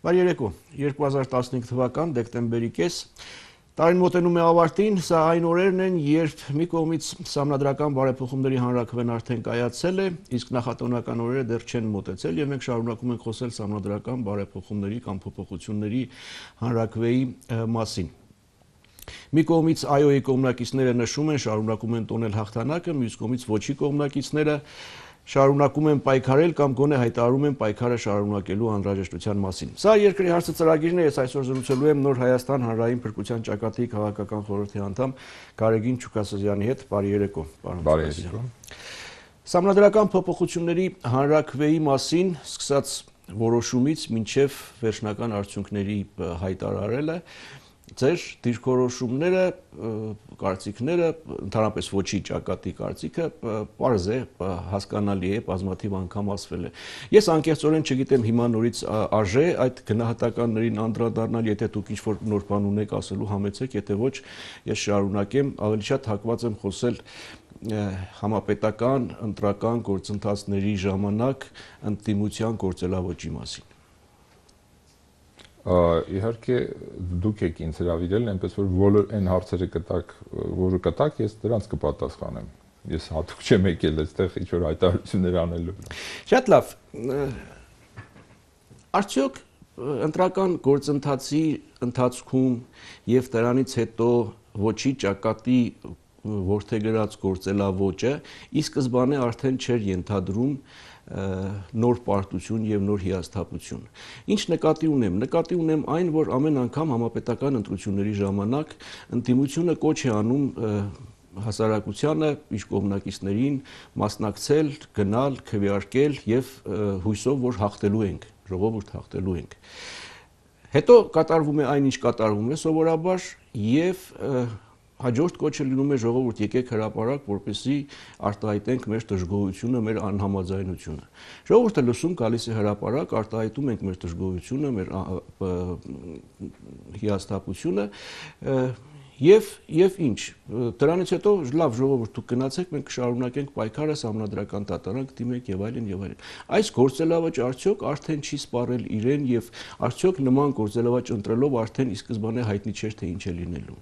Բարի երեկո, 2015 թվական դեկտեմբերի կես, տարին մոտենում է ավարտին, սա այն օրերն են, երբ մի կողմից սահմանադրական բարեփոխումների հանրաքվեն արդեն կայացել է, իսկ նախատոնական օրերը դեռ չեն մոտեցել եւ մենք շարունակում ենք խոսել սահմանադրական բարեփոխումների կամ փոփոխությունների հանրաքվեի մասին։ Մի կողմից այոյի կողմնակիցները նշում են, շարունակում են տոնել հաղթանակը, մյուս կողմից ոչի կողմնակիցները շարունակում են պայքարել կամ գոնե հայտարարում են պայքարը շարունակելու անհրաժեշտության մասին։ Սա երկրի հարցը ծրագիրն է, ես այսօր զրուցելու եմ Նոր Հայաստան հանրային փրկության ճակատի քաղաքական խորհրդի անդամ Գարեգին Չուկասազյանի հետ։ Բարի երեկո, պարոն Չուկասազյան։ Սահմանադրական փոփոխությունների հանրաքվեի մասին սկսած որոշումից մինչև վերջնական արդյունքների հայտարարելը ձեր դիրքորոշումները, կարծիքները, ընդհանրապես ոչի ճակատի կարծիքը պարզ է, հասկանալի է, բազմաթիվ անգամ ասվել է։ Ես անկեղծորեն չգիտեմ հիմա նորից արժե այդ գնահատականներին անդրադառնալ, եթե դուք ինչ-որ նոր բան ունեք ասելու համեցեք, եթե ոչ, ես շարունակեմ, ավելի շատ հակված եմ խոսել համապետական ընտրական գործընթացների ժամանակ ընդդիմության գործելավոճի մասին։ Իհարկե դուք եք ինձ հրավիրել, այնպես որ բոլոր այն հարցերը որը կտակ, ես դրանց կպատասխանեմ։ Ես հատուկ չեմ եկել այստեղ ինչ-որ հայտարարություններ անելու։ Շատ լավ։ Արդյոք ընտրական գործընթացի ընթացքում եւ դրանից հետո ոչի ճակատի որդեգրած գործելավոճը ի սկզբանե արդեն չէր ենթադրում նոր պարտություն եւ նոր հիասթափություն։ Ինչ նկատի ունեմ։ Նկատի ունեմ այն, որ ամեն անգամ համապետական ընտրությունների ժամանակ ընդդիմությունը կոչ է անում հասարակությանը, իր կողմնակիցներին մասնակցել, գնալ, քվեարկել եւ հույսով, որ հաղթելու ենք, ժողովուրդ հաղթելու ենք։ Հետո կատարվում է այն, ինչ կատարվում է սովորաբար եւ հաջորդ կոչը լինում է ժողովուրդ եկեք հրապարակ, որպեսզի արտահայտենք մեր դժգոհությունը, մեր անհամաձայնությունը։ Ժողովուրդը լսում գալիս է հրապարակ, արտահայտում ենք մեր դժգոհությունը, մեր հիասթափությունը եւ ինչ։ Դրանից հետո լավ ժողովուրդ դուք գնացեք, մենք կշարունակենք պայքարը, սահմանադրական դատարանք դիմենք եւ այլն եւ այլն։ Այս գործելավոճը արդյոք արդեն չի սպառել իրեն եւ արդյոք նման գործելավոճ ընտրելով արդեն ի սկզբանե հայտնի չէր թե ինչ է լինելու։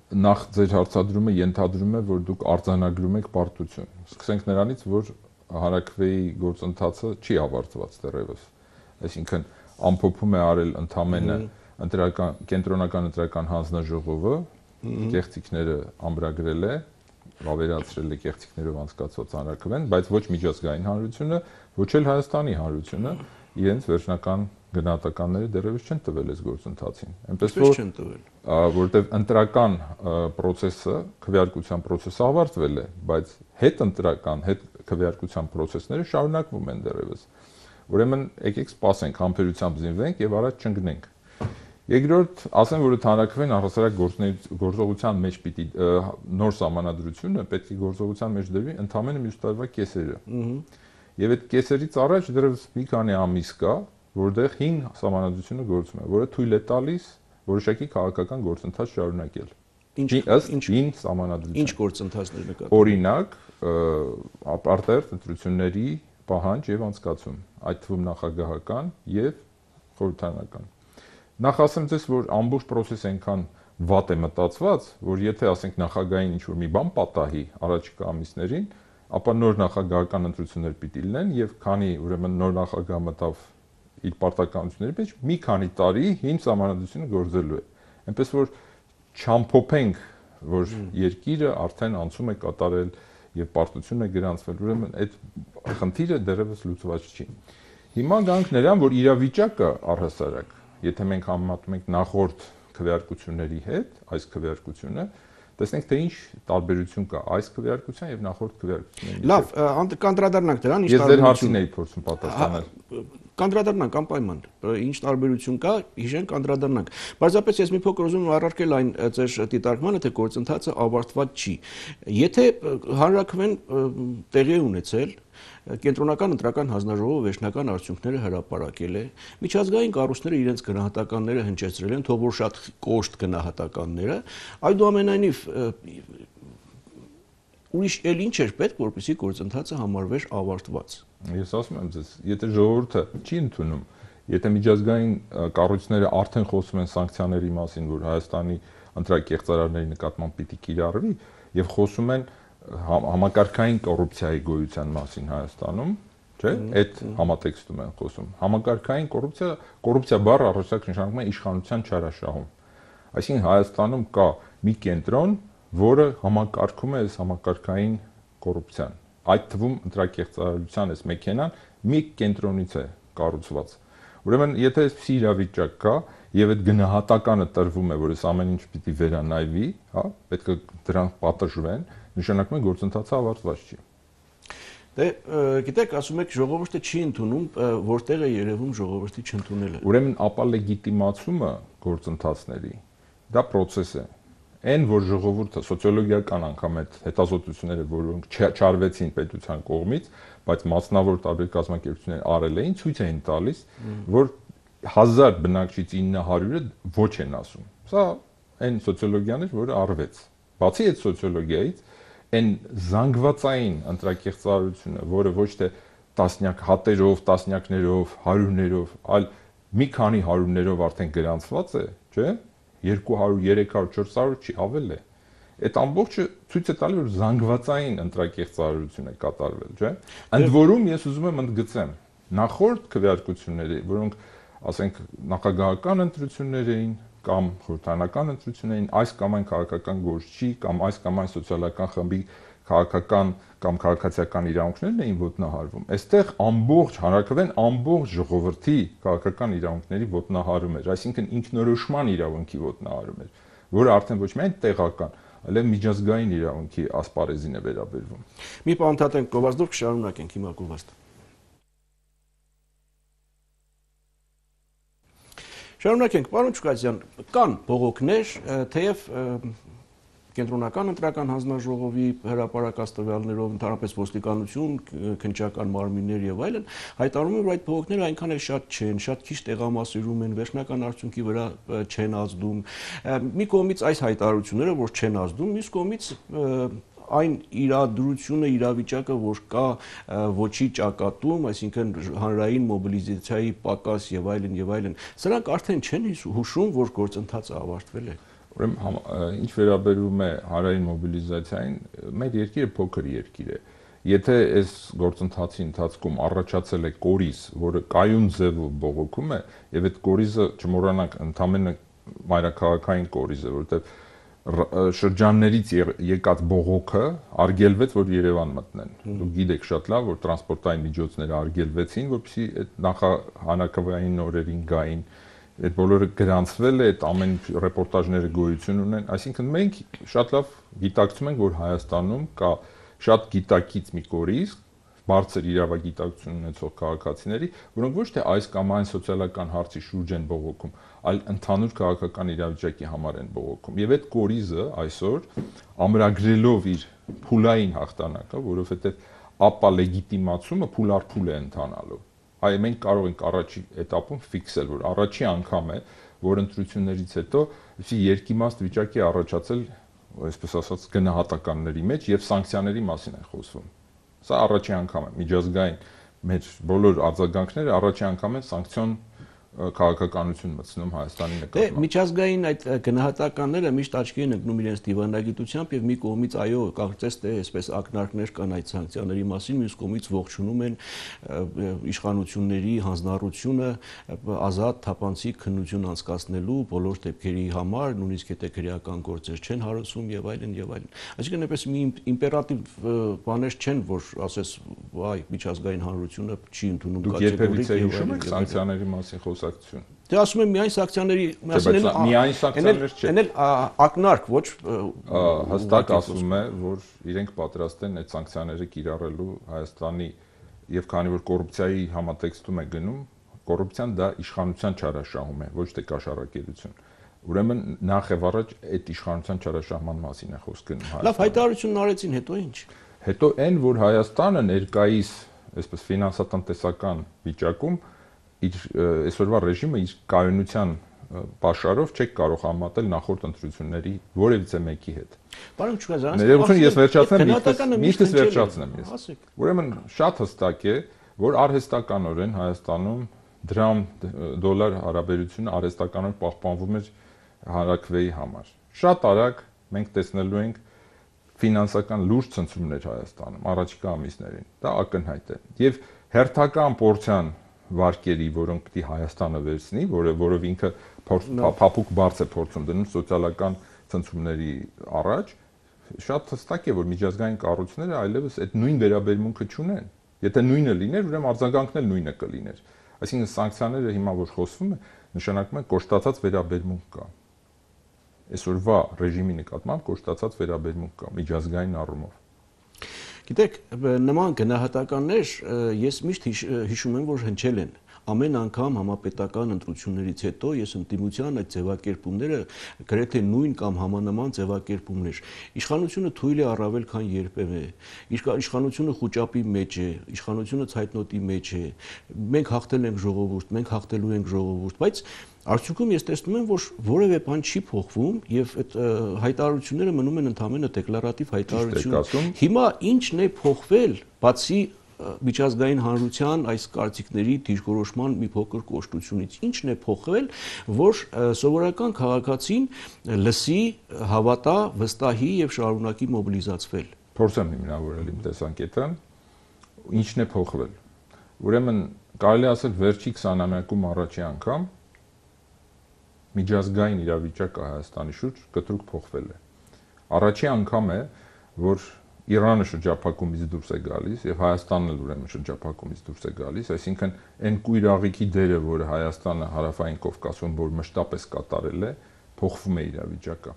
Նախ ձեր հարցադրումը ենթադրում է, որ դուք արձանագրում եք պարտություն։ Սկսենք նրանից, որ հանրաքվեի գործընթացը չի ավարտված դեռևս։ Այսինքն ամփոփում է արել ընդամենը կենտրոնական ընտրական հանձնաժողովը, կեղծիքները ամրագրել է, վավերացրել է կեղծիքներով անցկացված հանրաքվեն, բայց ոչ միջազգային հանրությունը, ոչ էլ Հայաստանի հանրությունը իրենց վերջնական գնահատականները դեռևս չեն տվել այս գործընթացին։ Այնպես որ որտեղ ընտրական process-ը, քվեարկության process-ը ավարտվել է, բայց հետընտրական, հետքվեարկության process-ները շարունակվում են դեռևս։ Ուրեմն եկեք սպասենք, համբերությամբ զինվենք եւ առաջ չընկնենք։ Երկրորդ, ասեմ, որ հանրաքվեն առհասարակ գործողության մեջ պիտի նոր սահմանադրությունը պետք է գործողության մեջ դրվի ընդամենը մյուս տարվա կեսերը։ Եվ այդ կեսերից առաջ դեռևս մի քանի ամիս կա, որտեղ 5 սահմանադրությունը գործում է, որը թույլ է տալիս որոշակի քաղաքական գործընթաց շարունակել։ Ըստ 5 սահմանադրության։ Ինչ գործընթացներ նկատի։ Օրինակ, արտահերթ ընտրությունների պահանջ եւ անցկացում, այդ թվում նախագահական եւ խորհրդարանական։ Նախ ասեմ ձեզ, որ ամբողջ process-ը այնքան վատ է մտածված, որ եթե ասենք նախագահային ինչ-որ մի բան պատահի առաջիկա ամիսներին, ապա նոր նախագահական ընտրություններ պիտի լինեն եւ քանի ուրեմն նոր նախագահ մտավ իր պարտականությունների մեջ, մի քանի տարի 5 սահմանադրությունը գործելու է։ Այնպես որ չամփոփենք, որ երկիրը արդեն անցում է կատարել եւ պարտություն է գրանցվել, ուրեմն այդ խնդիրը դեռևս լուծված չի։ Հիմա գանք նրան, որ իրավիճակը առհասարակ, եթե մենք համեմատում ենք նախորդ քվեարկությունների հետ, այս քվեարկությունը, տեսնենք թե ինչ տարբերություն կա այս քվեարկության եւ նախորդ քվեարկությունների։ Լավ, կանդրադառնանք դրան, ինչ տարբերություն։ Ես ձեր հարցին էի փորձում պատասխանել։ Կանդրադառնանք անպայման, ինչ տարբերություն կա, հիշենք կանդրադառնանք։ Պարզապես ես մի փոքր ուզում եմ առարկել այն ձեր դիտարկմանը, թե գործընթացը ավարտված չի։ Եթե հանրաքվեն տեղի ունեցել, կենտրոնական ընտրական հանձնաժողովը վերջնական արդյունքները հրապարակել է, միջազգային կառույցները իրենց գնահատականները հնչեցրել են, թող որ շատ կոշտ գնահատականները, այդուամենայնիվ ուրիշ էլ ինչ էր պետք, որպեսզի գործընթացը համարվեր ավարտված։ Ես ասում եմ ձեզ, եթե ժողովուրդը չի ընդունում Եթե միջազգային կառույցները արդեն խոսում են սանկցիաների մասին, որ Հայաստանի ընտրակեղծարարների նկատմամբ պիտի կիրառվի, եւ խոսում են համակարգային կոռուպցիայի գոյության մասին Հայաստանում, չէ՞, այդ համատեքստում են խոսում։ Համակարգային կոռուպցիա բառը առաջնակ նշանակում է իշխանության չարաշահում։ Այսինքն Հայաստանում կա մի կենտրոն, որը համակարգում է այս համակարգային կոռուպցիան։ Այդ թվում ընտրակեղծարարության այս մեքենան մի կենտրոնից է կառուցված։ Ուրեմն, եթե այսպիսի իրավիճակ կա եւ այդ գնահատականը տրվում է, որ այս ամեն ինչ պիտի վերանայվի, հա, պետք է դրան պատժվեն, նշանակում է գործընթացը ավարտված չի։ Դե, գիտեք, ասում եք ժողովուրդը չի ընդունում, որտեղ է երևում ժողովրդի չընդունելը։ Ուրեմն, ապա լեգիտիմացումը գործընթացների դա process է։ Այն, որ ժողովուրդը սոցիոլոգիական անգամ այդ հետազոտությունները, որոնք չարվեցին պետության կողմից, բայց մասնավոր տարբեր կազմակերպություններ արել էին, ցույց էին տալիս, որ 1000 բնակչից 900-ը ոչ են ասում։ Սա այն սոցիոլոգիան էր, որը արվեց։ Բացի այդ սոցիոլոգիայից, այն զանգվածային ընտրակեղծարարությունը, որը ոչ թե տասնյակ հատերով, տասնյակներով, հարյուրներով, այլ մի քանի հարյուրներով արդեն գրանցված է, չէ՞, 200, 300, 400 չի ավել է։ Այդ ամբողջը ցույց է տալի, որ զանգվածային ընտրակեղծարարություն է կատարվել, չէ՞։ Ընդ որում ես ուզում եմ ընդգծեմ, նախորդ քվեարկությունները, որոնք ասենք նախագահական ընտրություններ էին կամ խորհրդարանական ընտրություններ էին, այս կամ այն քաղաքական գործչի կամ այս կամ այն սոցիալական խմբի քաղաքական կամ քաղաքացիական իրավունքներն էին ոտնահարվում։ Այստեղ ամբողջ հանրաքվեն ամբողջ ժողովրդի քաղաքական իրավունքների ոտնահարում էր, այսինքն ինքնորոշման իրավունքի ոտնահարում էր, որը արդեն ոչ միայն տեղական, այլև միջազգային իրավունքի ասպարեզին է վերաբերվում։ Մի բան ընդհատենք գովազդով կշարունակենք հիմա գովազդը։ Շարունակենք, պարոն Չուկասյան, կան բողոքներ, թեև կենտրոնական ընտրական հանձնաժողովի հրապարակած տվյալներով, ընդհանրապես ոստիկանություն, քննչական մարմիններ եւ այլն, հայտարարում են, որ այդ բողոքները այնքան էլ շատ չեն, շատ քիչ տեղամասերում են, վերջնական արդյունքի վրա չեն ազդում։ Մի կողմից այս հայտարարությունները, որ չեն ազդում, մյուս կողմից այն իրադրությունը, իրավիճակը, որ կա ոչի ճակատում, այսինքն հանրային մոբիլիզացիայի պակաս եւ այլն, սրանք արդեն չեն հուշում, որ գործընթացը ավարտվել է։ Ուրեմն, ինչ վերաբերում է հանրային մոբիլիզացիային, մեր երկիրը փոքր երկիր է։ Եթե այս գործընթացի ընթացքում առաջացել է կորիզ, որը կայուն ձևով բողոքում է, եւ այդ կորիզը չմոռանանք, ընդամենը մայրաքաղաքային կորիզ է, որովհետեւ շրջաններից եկած բողոքը արգելվեց, որ Երևան մտնեն։ Դուք գիտեք շատ լավ, որ տրանսպորտային միջոցները արգելվեցին, որպեսզի այդ նախահանակային օրերին գային։ Այդ բոլորը գրանցվել է, այդ ամեն ռեպորտաժները գոյություն ունեն, այսինքն մենք շատ լավ գիտակցում ենք, որ Հայաստանում կա շատ գիտակից մի կորիզ, բարձր իրավագիտակցություն ունեցող քաղաքացիների, որոնք ոչ թե այս կամ այն սոցիալական հարցի շուրջ են բողոքում, այլ ընդհանուր քաղաքական իրավիճակի համար են բողոքում։ Եվ այդ կորիզը այսօր ամրագրելով իր փուլային հաղթանակը, որովհետև ապա լեգիտիմացումը փուլ առ փուլ է ընթանալու։ Այ մենք կարող ենք առաջի этаպում ֆիքսել, որ առաջի անգամ է, որ ընտրություններից հետո երկիմաստ վիճակի առաջացել, այսպես ասած, գնահատականների մեջ եւ սանկցիաների մասին են խոսվում։ Սա առաջի անգամ է, միջազգային մեր բոլոր արձագանքները առաջի անգամ են սանկցիոն քաղաքականություն մտցնում Հայաստանի նկատմամբ։ Միջազգային այդ գնահատականները միշտ աչքի են ընկնում իրենց դիվանագիտությամբ եւ մի կողմից այո, կարծես թե այսպես ակնարկներ կան այդ սանկցիաների մասին, մյուս կողմից ողջունում են իշխանությունների հանձնառությունը ազատ թափանցիկ քննություն անցկացնելու բոլոր դեպքերի համար, նույնիսկ եթե քրեական գործեր չեն հարուցում եւ այլն եւ այլն։ Այսինքն այնպես մի իմպերատիվ բաներ չեն, որ ասես, այ միջազգային հանրությունը չի ընդունում կատեգորիկ եւ սանկցիաների մասին խոսակցություն։ Դե ասում եմ միայն սանկցիաների մասին, միայն սանկցիաներ չէ։ Էն էլ ակնարկ, ոչ հստակ ասում է, որ իրենք պատրաստ են այդ սանկցիաները կիրառելու Հայաստանի եւ քանի որ կոռուպցիայի համատեքստում է գնում, կոռուպցիան դա իշխանության չարաշահում է, ոչ թե կաշառակերություն։ Ուրեմն նախ եւ առաջ այդ իշխանության չարաշահման մասին է խոսքը գնում։ Լավ, հայտարարությունն արեցին, հետո ինչ։ Հետո այն, որ Հայաստանը ներկայիս, այսպես ֆինանսատնտեսական վիճակում իր այսօրվա ռեժիմը իր կայունության պաշարով չեք կարող համատել նախորդ ընտրությունների որևիցե մեկի հետ։ Պարոն Չուկասյան, ներողություն, ես վերջացնեմ, միշտ վերջացնեմ ես։ Ուրեմն շատ հստակ է, որ արհեստականորեն Հայաստանում դրամ-դոլար հարաբերությունը արհեստականորեն պահպանվում էր հանրաքվեի համար։ Շատ արագ մենք տեսնելու ենք ֆինանսական լուրջ ցնցումներ Հայաստանում առաջիկա ամիսներին։ Դա ակնհայտ է։ Եվ հերթական պորցիան վարկերի, որոնք պիտի Հայաստանը վերցնի, որով ինքը փափուկ բարձ է փորձում դնում սոցիալական ցնցումների առաջ, շատ հստակ է, որ միջազգային կառույցները այլևս այդ նույն վերաբերմունքը չունեն։ Եթե նույնը լիներ, ուրեմն արձագանքն էլ նույնը կլիներ։ Այսինքն սանկցիաները հիմա որ խոսվում է, նշանակում է կոշտացած վերաբերմունք կա։ Այսօրվա ռեժիմի նկատմամբ կոշտացած վերաբերմունք կա միջազգային առումով։ Գիտեք, նման գնահատականներ ես միշտ հիշում եմ, որ հնչել են։ Ամեն անգամ համապետական ընտրություններից հետո ես ընդդիմության այդ ձևակերպումները գրեթե նույն կամ համանման ձևակերպումներ։ Իշխանությունը թույլ է առավել քան երբևէ։ Իշխանությունը խուճապի մեջ է, իշխանությունը ցայտնոտի մեջ է։ Մենք հաղթել ենք ժողովուրդ, մենք հաղթելու ենք ժողովուրդ, բայց արդյունքում ես տեսնում եմ, որ որևէ բան չի փոխվում եւ այդ հայտարարությունները մնում են ընդհանրապես դեկլարատիվ հայտարարություն։ Հիմա ի՞նչն է փոխվել, բացի միջազգային հանրության այս կարծիքների դիրքորոշման մի փոքր կոշտությունից, ի՞նչն է փոխվել, որ սովորական քաղաքացին լսի, հավատա, վստահի եւ շարունակի մոբիլիզացվել։ Փորձեմ հիմնավորել իմ տեսանկյունը, ի՞նչն է փոխվել։ Ուրեմն կարելի ասել վերջի 20-ամյակում առաջի անգամ միջազգային իրավիճակը Հայաստանի շուրջ կտրուկ փոխվել է։ Առաջի անգամ է, որ Իրանը շրջափակումից դուրս է գալիս եւ Հայաստանն էլ ուրեմն շրջափակումից դուրս է գալիս, այսինքն այն կույր աղիքի դերը, որը Հայաստանը հարավային Կովկասում որ մշտապես կատարել է, փոխվում է իրավիճակը։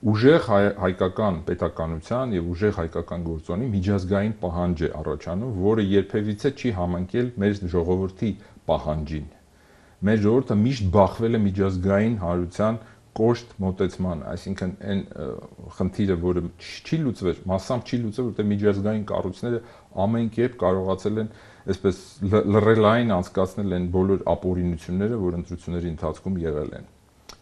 Ուժեղ հայկական պետականության եւ ուժեղ հայկական գործոնի միջազգային պահանջ է առաջանում, որը երբևիցե չի համընկել մեր ժողովրդի պահանջին։ Մեր ժողովուրդը միշտ բախվել է միջազգային հանրության կոշտ մոտեցման, այսինքն այն խնդիրը, որը չի լուծվել, massամբ չի լուծվել, որտեղ միջազգային կառույցները ամեն կերպ կարողացել են այսպես լռելային անցկացնել այն բոլոր ապօրինությունները, որ ընտրությունների ընթացքում եղել են։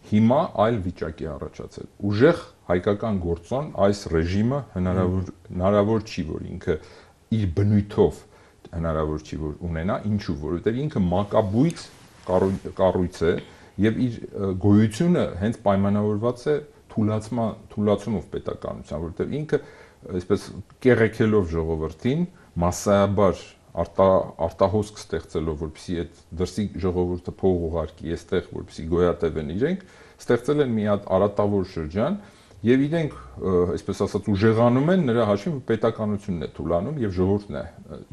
Հիմա այլ վիճակ է առաջացել։ Ուժեղ հայկական գործոն այս ռեժիմը հնարավոր չի, որ ինքը իր բնույթով հնարավոր չի, որ ունենա, ինչու, որովհետև ինքը մակաբույծ կառույց է եւ իր գոյությունը հենց պայմանավորված է թուլացումով պետականության, որովհետեւ ինքը այսպես կեղեքելով ժողովրդին, massայաբար արտահոսք ստեղծելով, որպեսզի այդ դրսի ժողովուրդը փող ուղարկի այստեղ, որպեսզի գոյատևեն իրենք, ստեղծել են մի հատ արատավոր շրջան եւ իրենք այսպես ասած ուժեղանում են նրա հաշվին, որ պետականությունն է թուլանում եւ ժողովուրդն է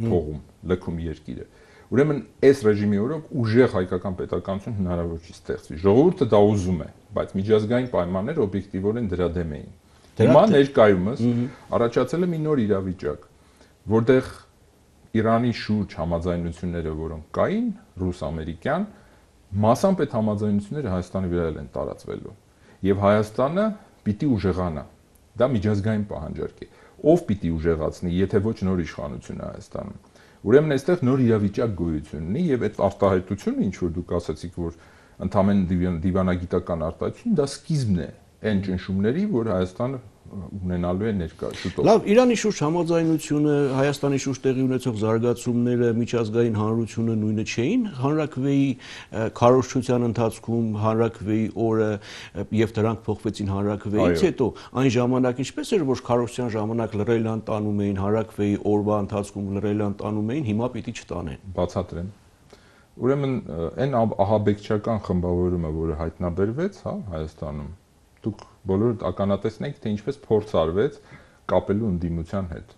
փողում, լքում երկիրը։ Ուրեմն այս ռեժիմի օրոք ուժեղ հայկական պետականություն հնարավոր չի ստեղծվի։ Ժողովուրդը դա ուզում է, բայց միջազգային պայմանները օբյեկտիվորեն դրա դեմ էին։ Հիմա ներկայումս առաջացել է մի նոր իրավիճակ, որտեղ Իրանի շուրջ համաձայնությունները, որոնք կային, ռուս-ամերիկյան, մասամբ այդ համաձայնությունները Հայաստանի վրա են տարածվելու։ Եվ Հայաստանը պիտի ուժեղանա։ Դա միջազգային պահանջարկ է։ Ով պիտի ուժեղացնի, եթե ոչ նոր իշխանությունը Հայաստանում։ Ուրեմն այստեղ նոր իրավիճակ գոյություն ունի եւ այդ արտահայտությունը, ինչ որ դուք ասացիք, որ ընդհանրեն դիվանագիտական արտահայտություն, դա սկիզբն է այն ճնշումների, որ Հայաստանը ունենալու է ներկա շուտով։ Լավ, Իրանի շուրջ համաձայնությունը, Հայաստանի շուրջ տեղի ունեցող զարգացումները, միջազգային հանրությունը նույնը չէին, հանրաքվեի քարոզչության ընթացքում, հանրաքվեի օրը եւ դրանք փոխվեցին հանրաքվեից հետո, այն ժամանակ ինչպես էր, որ քարոզչության ժամանակ լռելան տանում էին, հանրաքվեի օրվա ընթացքում լռելան տանում էին, հիմա պիտի չտանեն։ Բացատրեմ։ Ուրեմն այն ահաբեկչական խմբավորումը, որը հայտնաբերվեց, հա, Հայաստանում, դուք բոլորդ ականատեսն եք, թե ինչպես փորձ արվեց կապելու ընդդիմության հետ։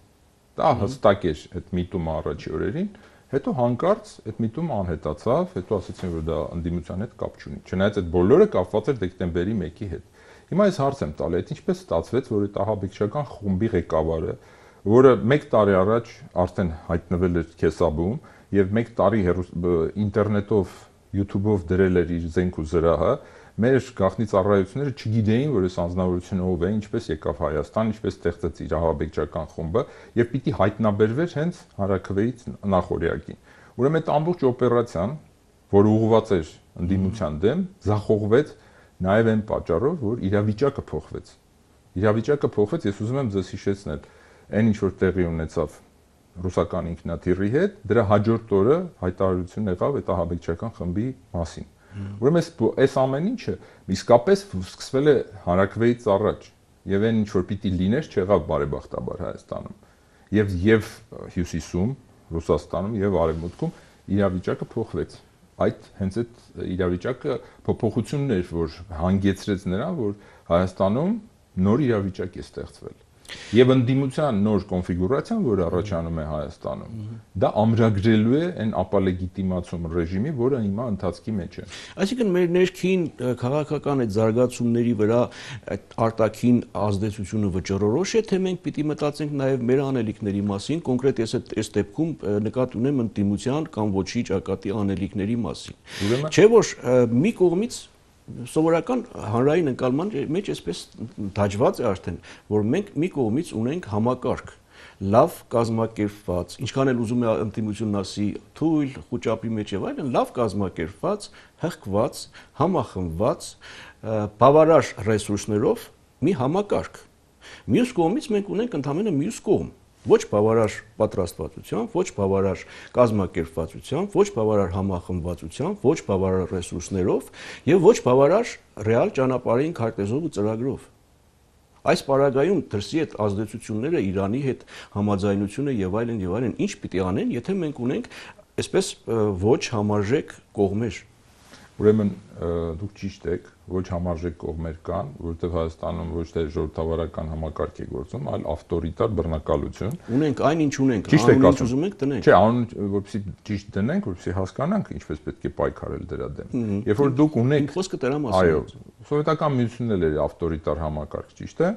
Դա հստակ էր այդ միտումը առաջի օրերին, հետո հանկարծ այդ միտումը անհետացավ, հետո ասացին, որ դա ընդդիմության հետ կապ չունի։ Չնայած այդ բոլորը կապված էր դեկտեմբերի 1-ի հետ։ Հիմա ես հարց եմ տալի, այդ ինչպես ստացվեց, որ այդ ահաբեկչական խմբի ղեկավարը, որը 1 տարի առաջ արդեն հայտնվել էր Քեսաբում եւ 1 տարի ինտերնետով, YouTube-ով դրել էր իր զենք ու զրահը, մեր գաղտնի ծառայությունները չգիտեին, որ այս անձնավորությունը ով է, ինչպես եկավ Հայաստան, ինչպես ստեղծեց իր ահաբեկչական խումբը եւ պիտի հայտնաբերվեր հենց հանրաքվեից նախօրյակին։ Ուրեմն այդ ամբողջ օպերացիան, որը ուղղված էր ընդդիմության դեմ, զախողվեց նաեւ այն պատճառով, որ իրավիճակը փոխվեց։ Իրավիճակը փոխվեց, ես ուզում եմ ձեզ հիշեցնել, այն ինչ որ տեղի ունեցավ ռուսական ինքնաթիռի հետ, դրա հաջորդ օրը հայտարարություն եղավ այդ ահաբեկչական խմբի մասին։ Ուրեմն այս ամեն ինչը իսկապես սկսվել է հանրաքվեից առաջ, եւ այն ինչ որ պիտի լիներ չեղավ բարեբախտաբար Հայաստանում։ Եվ Հյուսիսում, Ռուսաստանում եւ Արևմուտքում իրավիճակը փոխվեց։ Հենց այդ իրավիճակը փոփոխությունն էր, որ հանգեցրեց նրան, որ Հայաստանում նոր իրավիճակ է ստեղծվել։ Եվ ընդդիմության նոր կոնֆիգուրացիան, որ առաջանում է Հայաստանում, դա ամրագրելու է այն ապալեգիտիմացում ռեժիմի, որը հիմա ընթացքի մեջ է։ Այսինքն մեր ներքին քաղաքական այդ զարգացումների վրա այդ արտաքին ազդեցությունը վճռորոշ է, թե մենք պիտի մտածենք նաև մեր անելիքների մասին, կոնկրետ ես այս դեպքում նկատի ունեմ ընդդիմության կամ ոչի ճակատի անելիքների մասին։ Չէ՞ որ մի կողմից սովորական հանրային ընկալման մեջ այսպես դաջված է արդեն, որ մենք մի կողմից ունենք համակարգ, լավ կազմակերպված, ինչքան էլ ուզում է ընդդիմությունն ասի թույլ, խոճապի մեջ եւ այլն, լավ կազմակերպված, հղկված, համախմբված, բավարար ռեսուրսներով մի համակարգ։ Մյուս կողմից մենք ունենք ընդհանրապես մյուս կողմ, ոչ բավարար պատրաստվածությամբ, ոչ բավարար կազմակերպվածությամբ, ոչ բավարար համախմբվածությամբ, ոչ բավարար ռեսուրսներով եւ ոչ բավարար ռեալ ճանապարհային քարտեզով ու ծրագրով։ Այս պարագայում դրսի այդ ազդեցությունները Իրանի հետ համաձայնությունը եւ այլն, ինչ պիտի անեն, եթե մենք ունենք այսպես ոչ համարժեք կողմեր։ Ուրեմն դուք ճիշտ եք, ոչ համարժեք կողմեր կան, որովհետև Հայաստանում ոչ թե ժողովրդավարական համակարգ է գործում, այլ ավտորիտար բռնակալություն։ Ունենք այն ինչ ունենք, անուն ինչ ուզում ենք դնենք։ Չէ, անուն որպեսզի ճիշտ դնենք, որպեսզի հասկանանք ինչպես պետք է պայքարել դրա դեմ։ Երբ որ դուք ունեք խոսքը դրա մասին։ Այո, սովետական միությունն էլ էր ավտորիտար համակարգ, ճիշտ է։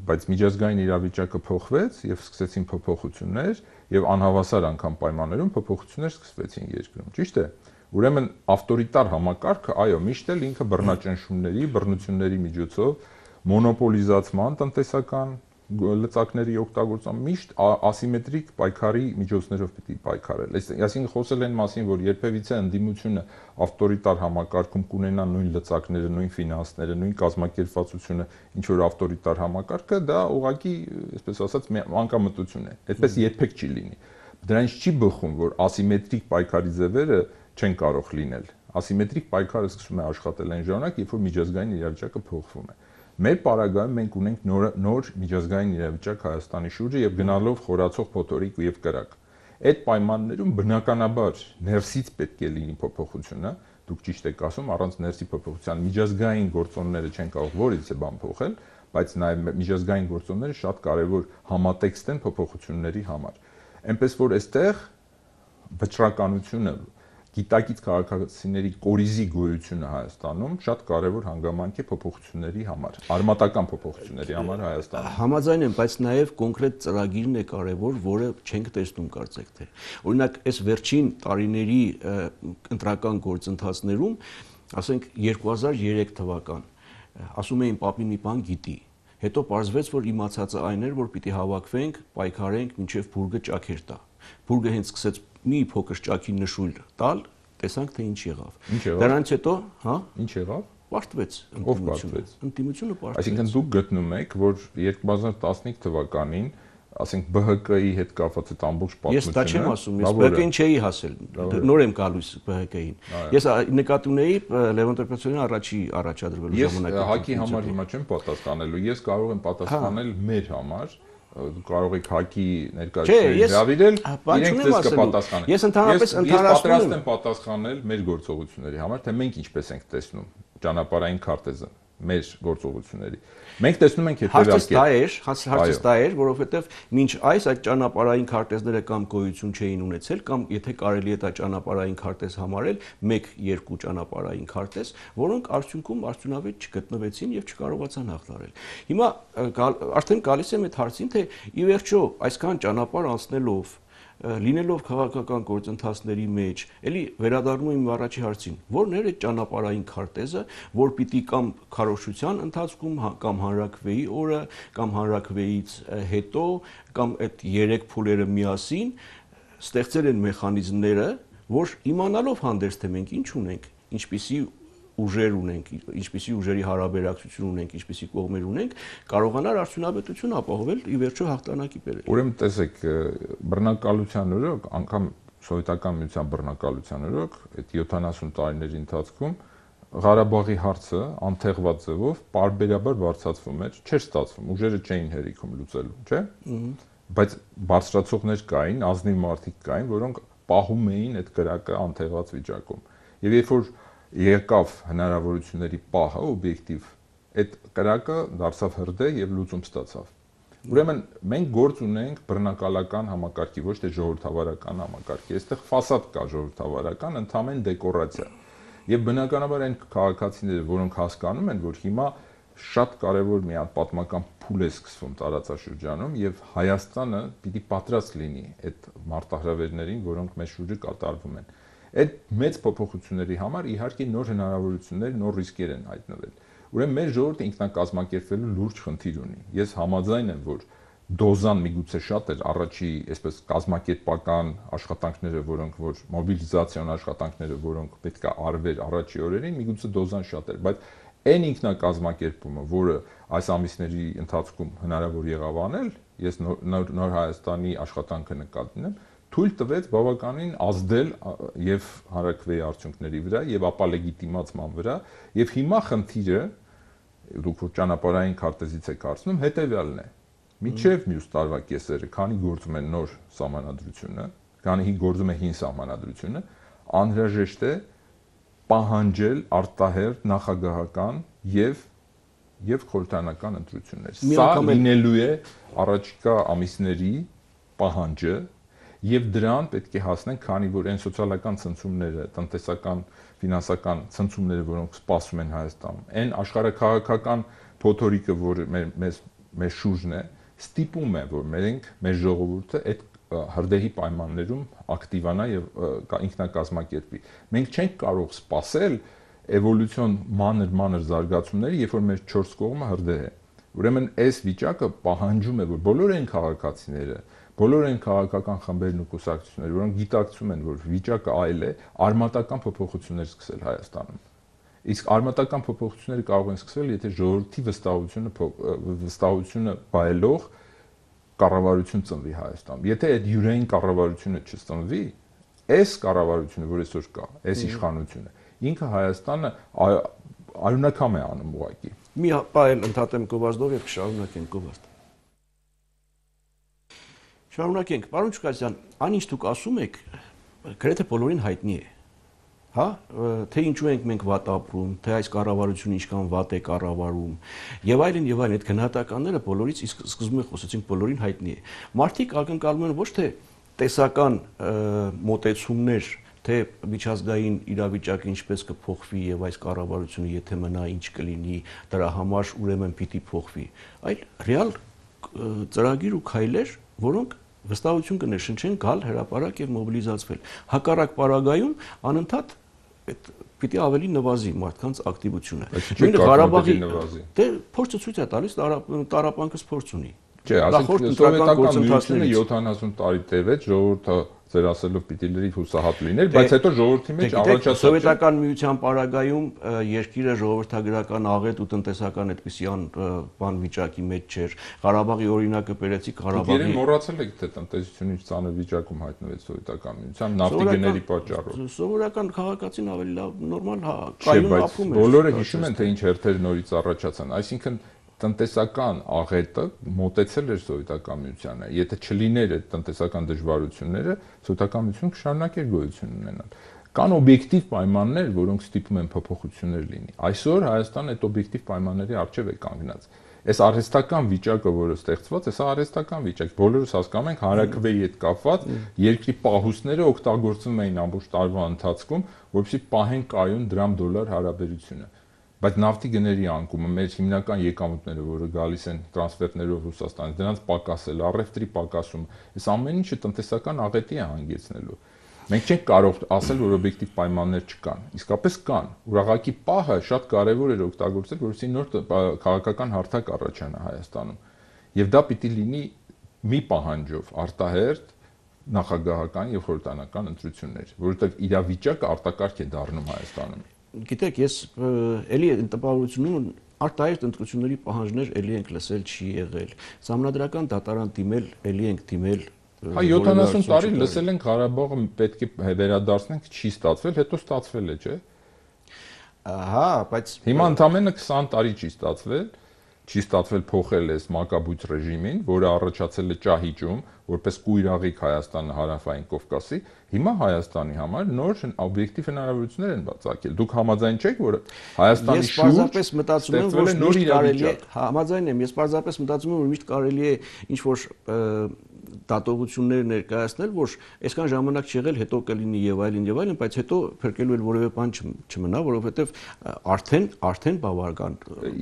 Բայց միջազգային իրավիճակը փոխվեց եւ սկսեցին փոփոխություններ եւ անհավասար անգամ պայմաններում փոփոխություններ սկսվեցին երկրում, ճիշտ է։ Ուրեմն ավտորիտար համակարգը, այո, միշտ էլ ինքը բռնաճնշումների, բռնությունների միջոցով մոնոպոլիզացման տնտեսական լծակների օգտագործման միշտ ասիմետրիկ պայքարի միջոցներով պիտի պայքարել։ Այսինքն խոսել են մասին, որ երբևիցե ընդդիմությունը ավտորիտար համակարգում կունենա նույն լծակները, նույն ֆինանսները, նույն կազմակերպվածությունը, ինչ որ ավտորիտար համակարգը, դա ուղղակի, այսպես ասած, անկամտություն է։ Այդպես երբեք չի լինի։ Դրանից չի բխում, որ ասիմետրիկ պայքարի ձևերը չեն կարող լինել։ Ասիմետրիկ պայքարը սկսում է աշխատել այն ժամանակ, երբ որ միջազգային իրավիճակը փոխվում է։ Մեր պարագայում մենք ունենք նոր միջազգային իրավիճակ Հայաստանի շուրջը եւ գնալով խորացող փոթորիկ եւ կրակ։ Այդ պայմաններում բնականաբար ներսից պետք է լինի փոփոխությունը, դուք ճիշտ եք ասում, առանց ներսի փոփոխության միջազգային գործոնները չեն կարող որից է բան փոխել, բայց նաեւ միջազգային գործոնները շատ կարեւոր համատեքստ են փոփոխությունների համար։ Այնպես որ այստեղ վճռականությունը գիտակից քաղաքացիների կորիզի գոյությունը Հայաստանում շատ կարևոր հանգամանք է փոփոխությունների համար, արմատական փոփոխությունների համար Հայաստանում։ Համաձայն եմ, բայց նաև կոնկրետ ծրագիրն է կարևոր, որը չենք տեսնում կարծեք թե։ Օրինակ, այս վերջին տարիների ընտրական գործընթացներում, ասենք 2003 թվական, ասում էին պապին մի բան գիտի, հետո պարզվեց, որ իմացածը այն էր, որ պիտի հավաքվենք, պայքարենք, մինչև բուրգը ճաքեր տա։ Բուրգը հենց սկսեց մի փոքր ճաքի նշույլ տալ, տեսանք թե ինչ եղավ։ Դրանից հետո, հա? Ինչ եղավ։ Պարտվեց ընդդիմությունը։ Ընդդիմությունը պարտվեց։ Այսինքն դուք գտնում եք, որ 2015 թվականին, ասենք ԲՀԿ-ի հետ կապված այդ ամբողջ պատմությունը։ Ես դա չեմ ասում, ես ԲՀԿ-ին չէի հասել, նոր եմ գալուս ԲՀԿ-ին։ Ես նկատի ունեի Լևոն Տեր-Պետրոսյանի առաջի առաջադրվելու ժամանակ։ Ես ՀԱԿ-ի համար հիմա չեմ պատասխանելու, ես կարող եմ պատասխանել մեր համար։ Կարող եք ՀԱԿ-ի ներկայացուցիչներին հրավիրել, իրենք ձեզ կպատասխանեն։ Ես ընդհանրապես պատրաստ եմ պատասխանել մեր գործողությունների համար, թե մենք ինչպես ենք տեսնում ճանապարհային քարտեզը մեր գործողությունների։ Մենք տեսնում ենք հարցս դա էր, որովհետև մինչ այդ ճանապարհային քարտեզները կամ գոյություն չէին ունեցել, կամ եթե կարելի է դա ճանապարհային քարտեզ համարել, 1-2 ճանապարհային քարտեզ, որոնք արդյունքում արդյունավետ չգտնվեցին եւ չկարողացան հաղթարել։ Հիմա արդեն գալիս եմ այդ հարցին, թե ի վերջո այսքան ճանապարհ անցնելով լինելով քաղաքական գործընթացների մեջ, էլի վերադառնում եմ առաջի հարցին, որն էր այդ ճանապարհային քարտեզը, որ պիտի կամ քարոզչության ընթացքում, կամ հանրաքվեի օրը, կամ հանրաքվեից հետո, կամ այդ 3 փուլերը միասին ստեղծել են մեխանիզմները, որ իմանալով հանդերձ թե մենք ինչ ունենք, ինչպիսի ուժեր ունենք, ինչպիսի ուժերի հարաբերակցություն ունենք, ինչպիսի կողմեր ունենք, կարողանար արդյունավետություն ապահովել ի վերջո հաղթանակի բերել։ Ուրեմն տեսեք, բռնակալության օրոք, անգամ սովետական միության բռնակալության օրոք, այդ 70 տարիների ընթացքում Ղարաբաղի հարցը անթեղված ձևով պարբերաբար բարձրացվում էր, չէր ստացվում, ուժերը չէին հերիքում լուծելու, չէ՞։ Բայց բարձրացողներ կային, ազնիվ մարդիկ կային, որոնք պահում էին այդ կրակը անթեղված վիճակում։ Եվ երբ որ եկավ հնարավորությունների պահը օբյեկտիվ, այդ կրակը դարձավ հրդեհ եւ լուծում ստացավ։ Ուրեմն մենք գործ ունենք բռնակալական համակարգի, ոչ թե ժողովրդավարական համակարգի։ Այստեղ ֆասադ կա ժողովրդավարական, ընդհանրեն դեկորացիա։ Եվ բնականաբար այն քաղաքացիները, որոնք հասկանում են, որ հիմա շատ կարևոր մի հատ պատմական փուլ է սկսվում տարածաշրջանում եւ Հայաստանը պիտի պատրաստ լինի այդ մարտահրավերներին, որոնք մեր շուրջը կատարվում են։ Այդ մեծ փոփոխությունների համար իհարկե նոր հնարավորություններ, նոր ռիսկեր են հայտնվել։ Ուրեմն մեր ժողովուրդը ինքնակազմակերպվելու լուրջ խնդիր ունի։ Ես համաձայն եմ, որ դոզան միգուցե շատ էր առաջի, այսպես կազմակերպական աշխատանքները, որոնք որ մոբիլիզացիոն աշխատանքները, որոնք պետք է արվեր առաջի օրերին, միգուցե դոզան շատ էր, բայց այն ինքնակազմակերպումը, որը այս ամիսների ընթացքում հնարավոր եղավ անել, ես նոր Հայաստանի աշխատանքը նկատի ունեմ, թույլ տվեց բավականին ազդել եւ հանրակրվեի արդյունքների վրա եւ ապա լեգիտիմացման վրա եւ հիմա խնդիրը դուք որ ճանապարհային քարտեզից եք հարցնում հետեւյալն է միջև մյուս տարվա կեսերը քանի գործում է նոր սահմանադրությունը քանի գործում է հին սահմանադրությունը անհրաժեշտ է պահանջել արտահերթ նախագահական եւ խորհրդարանական ընտրություններ սա լինելու է առաջիկա ամիսների պահանջը եւ դրան պետք է հասնենք, քանի որ այն սոցիալական ցնցումները, տնտեսական, ֆինանսական ցնցումները, որոնք սպասում են Հայաստանում, այն աշխարհաքաղաքական փոթորիկը, որ մեր շուրջն է, ստիպում է, որ մեր ժողովուրդը այդ հրդեհի պայմաններում ակտիվանա եւ ինքնակազմակերպվի։ Մենք չենք կարող սпасել էվոլյուցիոն մանր զարգացումները, երբ որ մեր 4 կողմը հրդեհ է։ Ուրեմն այս վիճակը պահանջում է, որ բոլոր այն քաղաքացիները բոլոր այն քաղաքական խմբերն ու կուսակցությունները, որոնք գիտակցում են, որ վիճակը այլ է, արմատական փոփոխություններ սկսել Հայաստանում։ Իսկ արմատական փոփոխությունները կարող են սկսվել, եթե ժողովրդի վստահությունը բայելով կառավարություն ծնվի Հայաստանում։ Եթե այդ յուրային կառավարությունը չծնվի, այս կառավարությունը, որ այսօր կա, այս իշխանությունը, ինքը Հայաստանը արյունակամ է անում ուղղակի։ Մի պահ ընդհատեմ Գովազդով եւ կշարունակենք Գովազդ։ Շարունակենք, պարոն Չուկասյան, այնինչ դուք ասում եք, գրեթե բոլորին հայտնի է, հա, թե ինչու ենք մենք վատ ապրում, թե այս կառավարությունը ինչքան վատ է կառավարում, եւ այլն, այդ գնահատականները բոլորից իսկ սկզբում խոսեցինք բոլորին հայտնի է։ Մարդիկ ակնկալում են ոչ թե տեսական մոտեցումներ, թե միջազգային իրավիճակը ինչպես կփոխվի եւ այս կառավարությունը եթե մնա ինչ կլինի, դրա համար ուրեմն պիտի փոխվի, այլ ռեալ ծրագիր ու քայլեր, որոնք վստահություն կներշնչեն գալ հրապարակ եւ մոբիլիզացվել։ Հակառակ պարագայում անընդհատ պիտի ավելի նվազի մարդկանց ակտիվությունը։ Նույնը Ղարաբաղի դե փորձը ցույց է տալիս, տարապանքս փորձ ունի։ Չէ, ասենք սովետական միությունը 70 տարի տևեց, ժողովուրդը ձեր ասելով պիտի լրիվ հուսահատ լիներ, բայց հետո ժողովրդի մեջ առաջացավ սովետական միության պարագայում երկիրը ժողովրդագրական աղետ ու տնտեսական այդպիսի բան վիճակի մեջ չէր։ Ղարաբաղի օրինակը բերեցիք, Ղարաբաղի մոռացել եք թե տնտեսությունից ծանր վիճակում հայտնվեց սովետական միության նավթի գների պատճառով։ Սովորական քաղաքացին ավելի լավ նորմալ կայուն ապրում էր։ Բոլորը հիշում են թե ինչ հերթեր նորից առաջացան, այսինքն տնտեսական աղետը մոտեցել էր սովետական միությանը։ Եթե չլիներ այդ տնտեսական դժվարությունները, սովետական միությունը կշարունակեր գոյություն ունենալ։ Կան օբյեկտիվ պայմաններ, որոնք ստիպում են փոփոխություններ լինի։ Այսօր Հայաստանը այդ օբյեկտիվ պայմանների առջև է կանգնած։ Այս արհեստական վիճակը, որը ստեղծված է, սա արհեստական վիճակ։ Բոլորս հասկանում ենք հանրակրվեի հետ կապված երկրի պահուստները օգտագործվում էին ամբողջ տարվա ընթացքում, որպեսզի պահեն կայուն դրամ-դոլար հարաբերությունը։ Բայց նավթի գների անկումը, մեր հիմնական եկամուտները, որը գալիս են տրանսֆերներով Ռուսաստանից, դրանց պակասել, առևտրի պակասում, այս ամեն ինչը տնտեսական աղետի է հանգեցնելու։ Մենք չենք կարող ասել, որ օբյեկտիվ պայմաններ չկան։ Իսկապես կան։ Ուրաղակի պահը շատ կարևոր էր օգտագործել, որովհետեւ նոր քաղաքական հարթակ առաջանա Հայաստանում։ Եվ դա պիտի լինի մի պահանջով արտահերթ նախագահական եւ խորհրդարանական ընտրություններ, որովհետեւ իրավիճակը արտակարգ է դառնում Հայաստանում։ գիտեք, ես էլի տպավորությունում արտահայտ ընտրությունների պահանջներ էլի ենք լսել չի եղել։ Սահմանադրական դատարան դիմել, էլի ենք դիմել։ Հա 70 տարի լսել ենք Ղարաբաղը պետք է վերադարձնենք, չի ստացվել, հետո ստացվել է, չէ՞։ Հա, բայց հիմա ընդամենը 20 տարի չի ստացվել փոխել այս մակաբույծ ռեժիմին, որը առաջացել է ճահիճում, որպես կույր աղիք Հայաստանը հարավային Կովկասի, հիմա Հայաստանի համար նոր օբյեկտիվ հնարավորություններ են բացակել։ Դուք համաձայն չեք, որ Հայաստանի շուրջ ստեղծվել է նոր իրավիճակ։ Համաձայն եմ, ես պարզապես մտածում եմ, որ միշտ կարելի է ինչ որ դատողություններ ներկայացնել, որ այսքան ժամանակ չեղել, հետո կլինի եւ այլն, բայց հետո փրկելու էլ որևէ բան չմնա, որովհետեւ արդեն բավական։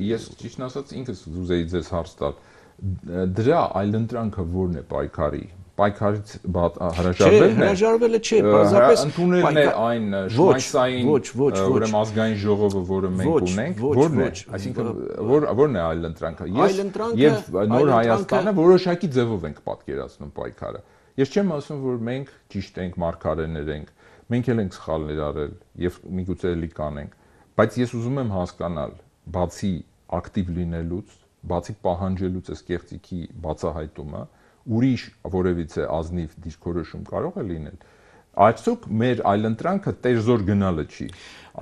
Ես ճիշտ ասած ինքս ուզեի ձեզ հարց տալ։ Դրա այլընտրանքը ո՞րն է պայքարի։ Պայքարից հրաժարվելն է։ Հրաժարվելը չէ, պարզապես ընդունելն է այն շմայցային, ուրեմն ազգային ժողովը, որը մենք ունենք, ո՞րն է։ Այսինքն ո՞րն է այլընտրանքը։ Ես նոր Հայաստանը որոշակի ձևով ենք պատկերացնում պայքարը։ Ես չեմ ասում, որ մենք ճիշտ ենք, մարգարեներ ենք, մենք էլ ենք սխալներ արել եւ միգուցե էլի կանենք, բայց ես ուզում եմ հասկանալ, բացի ակտիվ լինելուց, բացի պահանջելուց այս կեղծիքի բացահայտումը, ուրիշ որևիցե ազնիվ դիրքորոշում կարող է լինել։ Արդյոք մեր այլընտրանքը տերզոր գնալը չի։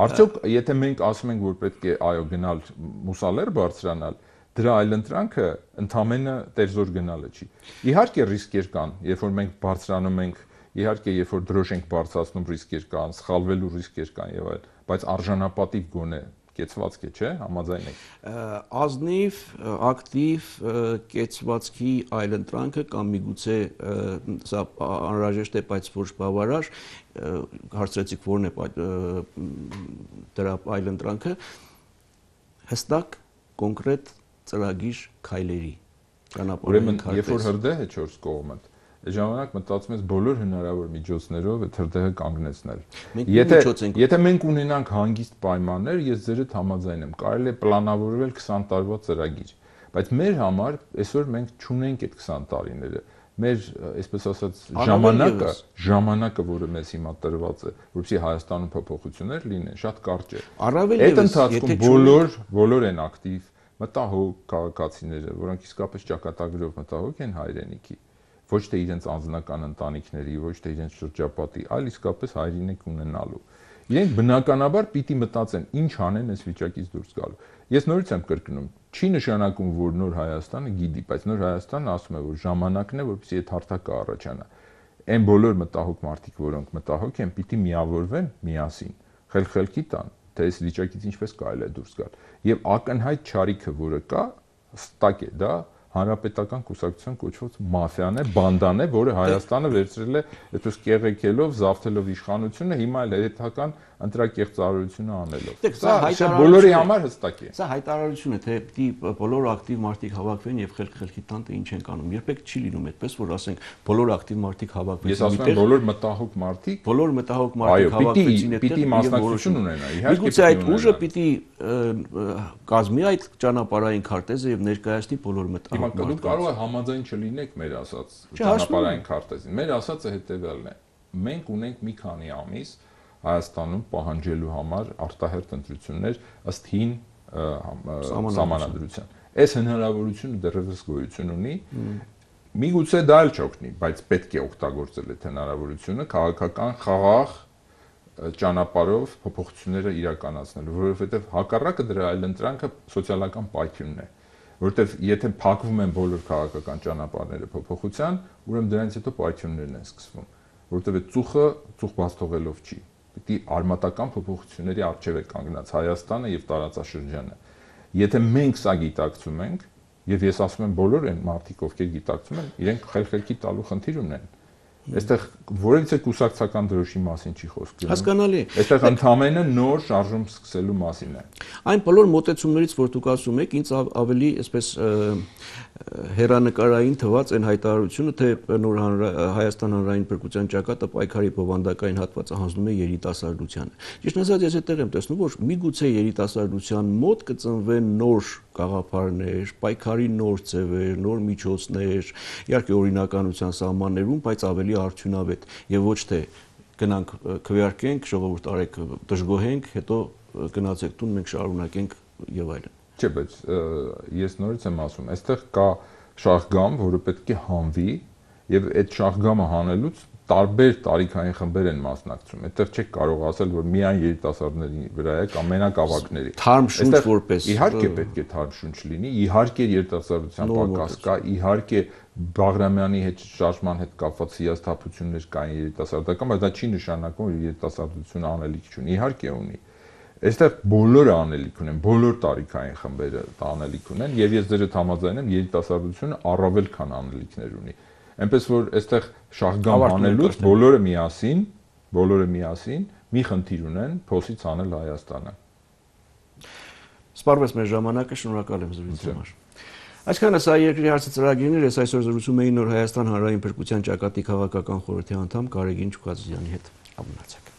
Արդյոք եթե մենք ասում ենք, որ պետք է այո գնալ մուսալեր բարձրանալ, դրա այլընտրանքը ընդամենը տերզոր գնալը չի։ Իհարկե ռիսկեր կան, երբ որ մենք բարձրանում ենք, իհարկե երբ որ դրոշ ենք բարձրացնում ռիսկեր կան, սխալվելու ռիսկեր կան եւ այլն, բայց արժանապատիվ գոնե կեցվածք է, չէ՞, համաձայն եք։ Ազնիվ, ակտիվ կեցվածքի այլընտրանքը կամ միգուցե սա անհրաժեշտ է, բայց ոչ բավարար, հարցրեցիք ո՞րն է դրա այլընտրանքը, հստակ կոնկրետ ծրագիր քայլերի ճանապարհային քարտեզ։ Ուրեմն երբ որ հրդեհ է 4 կողմը, ժամանակ մտածում ես բոլոր հնարավոր միջոցներով այդ հրդեհը կանգնեցնել։ Եթե մենք ունենանք հանգիստ պայմաններ, ես ձերդ համաձայն եմ, կարելի է պլանավորվել 20 տարվա ծրագիր, բայց մեր համար այսօր մենք չունենք այդ 20 տարիները։ Մեր, այսպես ասած, ժամանակը, որը մեզ հիմա տրված է, որպեսզի Հայաստանում փոփոխություններ լինեն, շատ կարճ է։ Այդ ընթացքում բոլոր են ակտիվ մտահոգ քաղաքացիները, որոնք իսկապես ճակատագրով մտահոգ են հայրենիքի, ոչ թե իրենց անձնական ընտանիքների, ոչ թե իրենց շրջապատի, այլ իսկապես հայրենիք ունենալու։ Իրենք բնականաբար պիտի մտածեն ինչ անեն այս վիճակից դուրս գալու։ Ես նորից եմ կրկնում, չի նշանակում, որ նոր Հայաստանը գիտի, բայց նոր Հայաստանը ասում է, որ ժամանակն է, որպեսզի այդ հարթակը առաջանա։ Այն բոլոր մտահոգ մարդիկ, որոնք մտահոգ են, պիտի միավորվեն միասին, խելքի տան, թե այս վիճակից ինչպես կարելի է դուրս գալ։ Եվ ակնհայտ չարիքը, որը կա, հստակ է, դա հանրապետական կուսակցության կոչված մաֆիան է, բանդան է, որը Հայաստանը վերցրել է այդպես կեղեքելով, զավթելով իշխանությունը, հիմա էլ հետական ընտրակեղծարարությունը անելով։ Սա բոլորի համար հստակ է։ Սա հայտարարություն է, թե պիտի բոլոր ակտիվ մարդիկ հավաքվեն եւ խելքի տան, թե ինչ են անում։ Երբեք չի լինում այդպես, որ ասենք բոլոր ակտիվ մարդիկ հավաքվեցին։ Ես ասում եմ բոլոր մտահոգ մարդիկ հավաքվեցին այդտեղ, պիտի մասնակցություն ունենա։ Իհարկե միգուցե այդ ուժը պիտի կազմի այդ ճանապարհային քարտեզը եւ ներկայացնի բոլոր մտահոգ Դուք կարող եք համաձայն չլինեք մեր ասած ճանապարհային քարտեզին։ Մեր ասածը հետեւյալն է. մենք ունենք մի քանի ամիս Հայաստանում պահանջելու համար արտահերթ ընտրություններ ըստ հին սահմանադրության։ Այս հնարավորությունը դեռևս գոյություն ունի։ Միգուցե դա էլ չօգնի, բայց պետք է օգտագործել այդ հնարավորությունը քաղաքական խաղաղ ճանապարհով փոփոխությունները իրականացնելու, որովհետև հակառակը դրա այլընտրանքը սոցիալական պայթյունն է։ Որտեվ եթե փակվում են բոլոր քաղաքական ճանապարհները փոփոխության, ուրեմն դրանից հետո պայթյուններն են սկսվում, որտեվ այդ ծուխ բաց թողելով չի։ Պիտի արմատական փոփոխությունների առջև է կանգնած Հայաստանը եւ տարածաշրջանը։ Եթե մենք սա գիտակցում ենք, եւ ես ասում եմ բոլոր այն մարդիկ, ովքեր գիտակցում են, իրենք խելքի տալու խնդիր ունեն։ Այստեղ որևիցե կուսակցական դրոշի մասին չի խոսք գնում։ Հասկանալի։ Այստեղ ընդհանրապես նոր շարժում սկսելու մասին է։ Այն բոլոր մոտեցումներից, որ դուք ասում եք, ինձ ավելի այսպես հերանեկարային թվաց այն հայտարարությունը, թե նոր Հայաստան հանրային փրկության ճակատը պայքարի բովանդակային հատվածը հանձնում է երիտասարդությանը։ Ճիշտ ասած, ես այդտեղ եմ տեսնում, որ միգուցե երիտասարդության մոտ կծնվեն նոր գաղափարներ, պայքարի նոր ձևեր, նոր միջոցներ, իհարկե օրինականության սահմաններում, բայց ավելի արդյունավետ եւ ոչ թե գնանք քվեարկենք, ժողովուրդ արեք դժգոհենք, հետո գնացեք տուն, մենք շարունակենք եւ այլն։ Չէ, բայց ես նորից եմ ասում, այստեղ կա շահգամ, որը պետք է հանվի եւ այդ շահգամը հանելուց տարբեր տարիքային խմբեր են մասնակցում։ Այդտեղ չեք կարող ասել, որ միայն երիտասարդների վրա է կամ մենակ ավագների։ Թարմ շունչ որպես։ Իհարկե պետք է թարմ շունչ լինի, իհարկե երիտասարդության պակաս կա, իհարկե Բաղրամյանի հետ շարժման հետ կապված հիասթափություններ կային երիտասարդական, բայց դա չի նշանակում, որ երիտասարդությունը անելիք չունի։ Իհարկե ունի։ Այստեղ բոլորը անելիք ունեն, բոլոր տարիքային խմբերը անելիք ունեն, եւ ես ձեր հետ համաձայն եմ, երիտասարդությունը առավել քան անելիքներ ունի։ Այնպես որ այստեղ շահգամ անելուց բոլորը միասին մի խնդիր ունեն փոսից անել Հայաստանը։ Սպառվեց մեր ժամանակը, շնորհակալ եմ զրույցի համար։ Այսքանը սա երկրի հարցը ծրագիրն էր, ես այսօր զրուցում էի Նոր Հայաստան հանրային փրկության ճակատի քաղաքական խորհրդի անդամ Գարեգին Չուկազյանի հետ։ Ամնացեք։